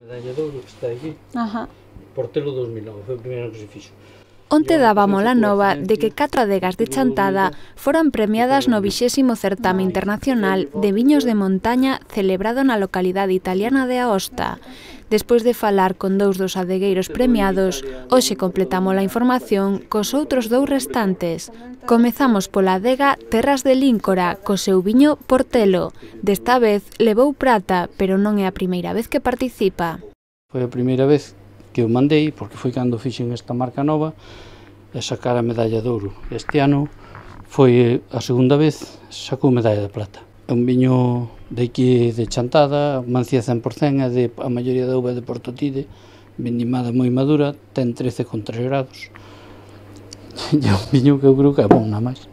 Medalla de ouro que está aquí, Ajá. Portelo 2009, foi o primeiro que se fixo. Onte dábamos a nova de que 4 adegas de Chantada foran premiadas no 20º certame internacional de viños de montaña celebrado na localidade italiana de Aosta. Despois de falar con 2 dos adegueiros premiados, hoxe completamos a información cos outros 2 restantes. Comezamos pola adega Terras de Líncora, co seu viño Portelo. Desta vez levou prata, pero non é a primeira vez que participa. Foi a primeira vez que eu mandei, porque foi cando fixen esta marca nova, e sacar a medalla de ouro. Este ano foi a segunda vez, sacou medalla de plata. É un viño de aquí de Chantada, mancía 100%, é de a maioría da uva de Portotide, vendimada moi madura, ten 13,3 grados. E é un viño que eu creo que é bon, nada máis.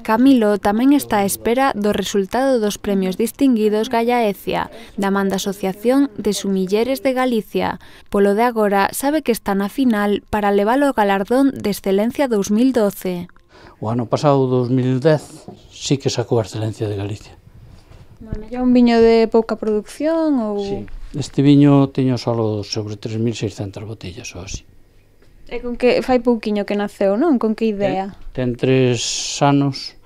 Camilo tamén está á espera do resultado dos premios distinguidos Gallaecia, da man da Asociación de Sumilleres de Galicia. Polo de agora, sabe que está na final para levar o galardón de Excelencia 2012. O ano pasado, 2010, sí que sacou a Excelencia de Galicia. Bueno, é un viño de pouca produción ou... Sí. Este viño teño solo sobre 3.600 botellas ou así. É con que fai pouquiño que naceu, non? Con que idea? Ten 3 anos,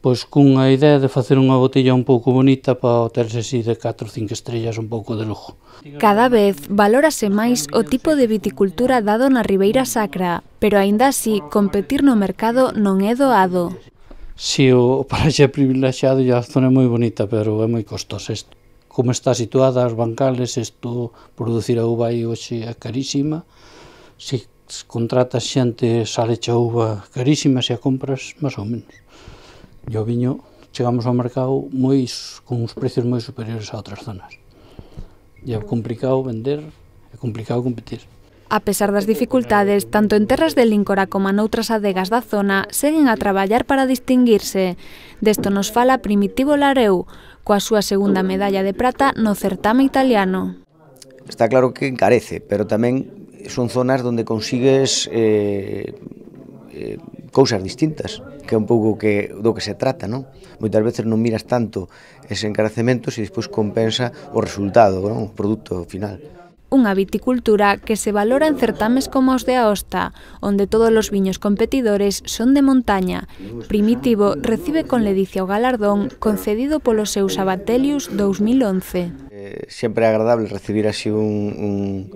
pois cunha idea de facer unha botella un pouco bonita para terse así de 4 ou 5 estrellas un pouco de lujo. Cada vez valórase máis o tipo de viticultura dado na Ribeira Sacra, pero aínda así competir no mercado non é doado. Si, o paraxe é privilexiado e a zona é moi bonita, pero é moi costosa. Como está situada as bancales, isto producir a uva aí hoxe é carísima. Si contratas xente, sale a uva carísima, se a compras, máis ou menos. E o viño, chegamos ao mercado con uns precios moi superiores a outras zonas. E é complicado vender, é complicado competir. A pesar das dificultades, tanto en Terras de Líncora como noutras adegas da zona, seguen a traballar para distinguirse. Desto nos fala Primitivo Lareu, coa súa segunda medalla de prata no certame italiano. Está claro que encarece, pero tamén son zonas onde consigues cousas distintas, que é un pouco do que se trata, non? Moitas veces non miras tanto ese encarecemento se despois compensa o resultado, non? O produto final. Unha viticultura que se valora en certames como os de Aosta, onde todos os viños competidores son de montaña. Primitivo recibe con ledicia o galardón concedido polo seu Sabatelius 2011. Sempre é agradable recibir así un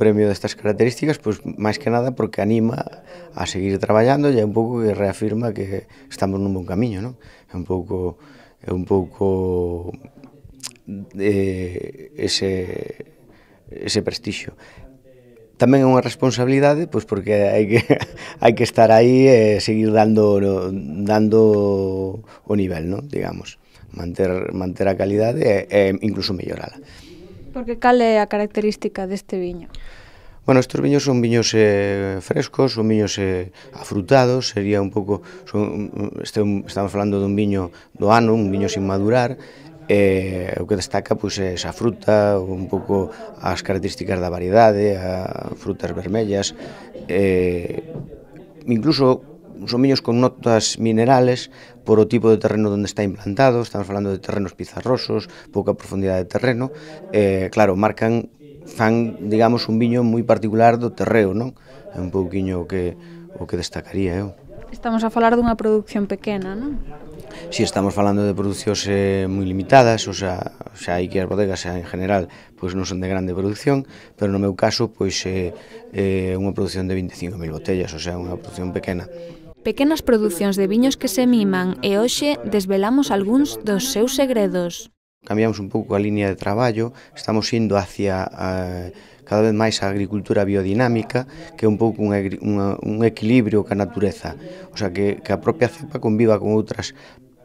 premio destas características, pois máis que nada porque anima a seguir traballando e é un pouco que reafirma que estamos nun bon camiño, non? É un pouco ese prestixio. Tamén é unha responsabilidade, pois porque hai que estar aí e seguir dando o nivel, non? Digamos, manter a calidade e incluso mellorala. Porque cal é a característica deste viño? Bueno, estes viños son viños frescos, son viños afrutados, sería un pouco, estamos falando dun viño do ano, un viño sin madurar, o que destaca pois é esa fruta, un pouco as características da variedade, as frutas vermellas, incluso son viños con notas minerales por o tipo de terreno onde está implantado. Estamos falando de terrenos pizarrosos, pouca profundidade de terreno, claro, fan, digamos, un viño moi particular do terreo, non? É un pouquiño o que destacaría eu. Estamos a falar dunha produción pequena, non? Si, estamos falando de producións moi limitadas, o sea, hai que as bodegas en general pois non son de grande produción, pero no meu caso pois é unha produción de 25.000 botellas, o sea, unha produción pequena. Pequenas producións de viños que se miman e hoxe desvelamos algúns dos seus segredos. Cambiamos un pouco a línea de traballo, estamos indo hacia cada vez máis a agricultura biodinámica, que é un pouco un equilibrio ca natureza, o sea, que a propia cepa conviva con outras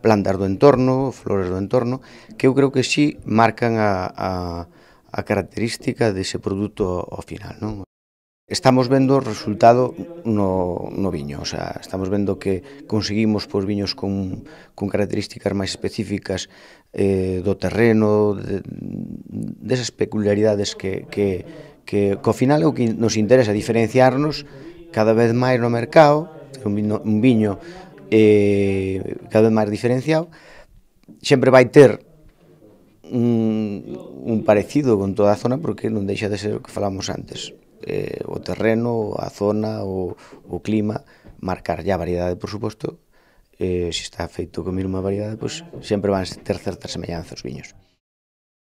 plantas do entorno, flores do entorno, que eu creo que sí marcan a característica dese produto ao final, non? Estamos vendo o resultado no viño, o sea, estamos vendo que conseguimos pois, viños con características máis específicas do terreno, desas peculiaridades que ao final é o que nos interesa, diferenciarnos cada vez máis no mercado, un viño cada vez máis diferenciado, sempre vai ter un parecido con toda a zona porque non deixa de ser o que falamos antes. O terreno, a zona, o clima, marcar a variedade, por suposto. Se está feito con a mesma variedade, pois sempre van ter certas semellanzas os viños.